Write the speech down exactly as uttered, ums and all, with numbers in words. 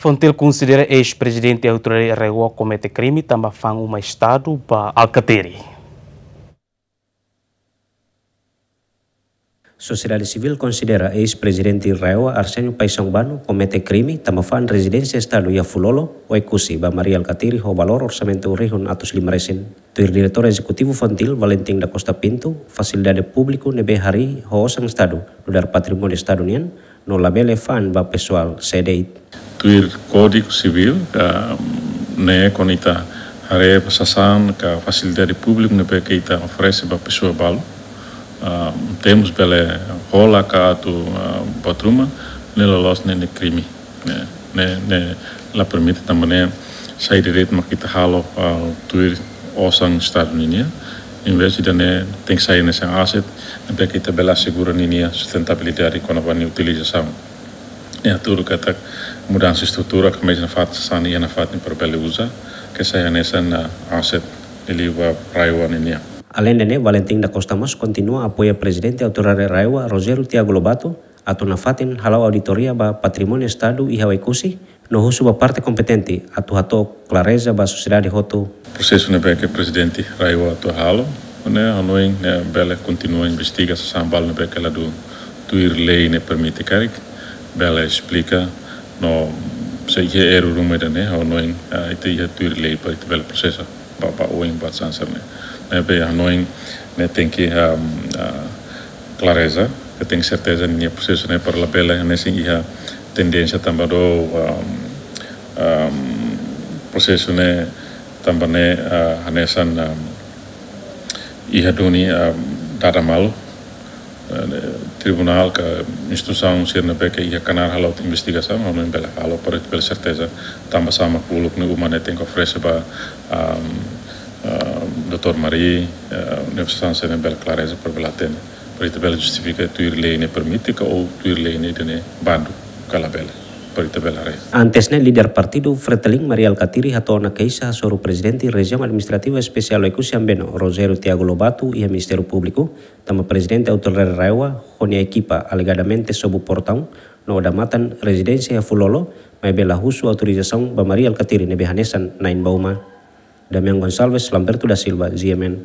FONGIL konsidera eis-prezidente autoridade RAEOA komete krime tanba fa'an uma Estadu ba Alkatiri. Sosiedade sivíl konsidera eis-prezidente RAEOA Arsénio Paixão Bano komete krime tanba fa'an rezidénsia Estadu iha Fulolo, Oekusi, ba Mari Alkatiri ho valór orsamentu rihun atus lima resin. Tuir Diretór Ezekutivu FONGIL, Valentim da Costa Pinto, fasilidade públiku ne'ebé harii ho osan Estadu nu'udar patrimóniu Estadu nian, no labele fa'an ba pesoál sé de'it. Tuir Kódigu Sivíl, ah, ne'e kuandu ita haree ba sasán ka fasilidade públiku ne'ebé ke ita oferese ba pesoa balu, ah, temos bele hola ka atu, ah, buat ruma, ne'e loloos ne'e, ne'e krime. Ne'e, ne'e, ne'e la permite tanba ne'e sai direitu mak ita halo, ah, tuir osan Estadu ninia. Em vez de ne'e tenke sai hanesan asset, ne'ebé ke ita bele asegura ninia sustentabilidade kona-ba nia utilizasaun. Ne'e hatudu katak mudansa estrutura, ka meius nafatin sasán iha nafatin para bele uza, ke sai hanesan, ah, asset liuliu ba RAEOA ninia. Aleinde ne'e, Valentim da Costa mós kontinua apoia prezidente autoridade RAEOA, Rogério Tiago Lobato, atu nafatin hala'o auditoria ba patrimóniu Estadu iha Oekusi, no husu ba parte kompetente atu hato'o klareza ba sosiedade hotu. Prosesu ne'ebé ke prezidente RAEOA atu halo, ne'e ha'u hanoin ne'e bele kontinua investiga sasán balu ne'ebé ke ladún tuir lei ne'e permite karik, bele esplika, no se iha erru ruma ida-ne'e, ha'u hanoin, ah, ita iha tuir lei para ita bele prosesa ba, ba oin buat sasán sira-ne'e. Ne'ebé ha'u hanoin ne'e tenke, ah, ah, klareza, ke tenke serteza ninia prosesu ne'e para labele hanesan iha tendénsia tanba do, um, um, prosesu ne'e tanba ne'e, ah, hanesan, um, iha duni, um, dada malu, eh, tribunál ka instituisaun sira ne'ebé ke iha knaar halo investigasaun, ha'u hanoin bele halo para ita bele serteza tanba sá mak uluk ne'e uma ne'e tenke oferese ba, um, um, doutór Mari, eh, ne'e sasán sira-ne'e bele klareza para bele hatene. Para ita bele justifika tuir lei ne'e permite ka ou tuir lei ne'e ida-ne'e bandu ka labele. Para ita bele haree. Antes ne'e, líder partidu FRETILIN, Mari Alkatiri, hato'o ona keixa hasoru prezidente Rejiaun Administrativa Espesiál Oekusi Ambeno, Rogério Tiago Lobato, iha Ministériu Públiku, tanba prezidente autoridade RAEOA ho nia ekipa alegadamente sobu portaun no odamatan rezidénsia iha Fulolo, maibé la husu autorizasaun ba Mari Alkatiri ne'ebé hanesan na'in ba uma. Damian Gonçalves, Lamberto da Silva, G M N.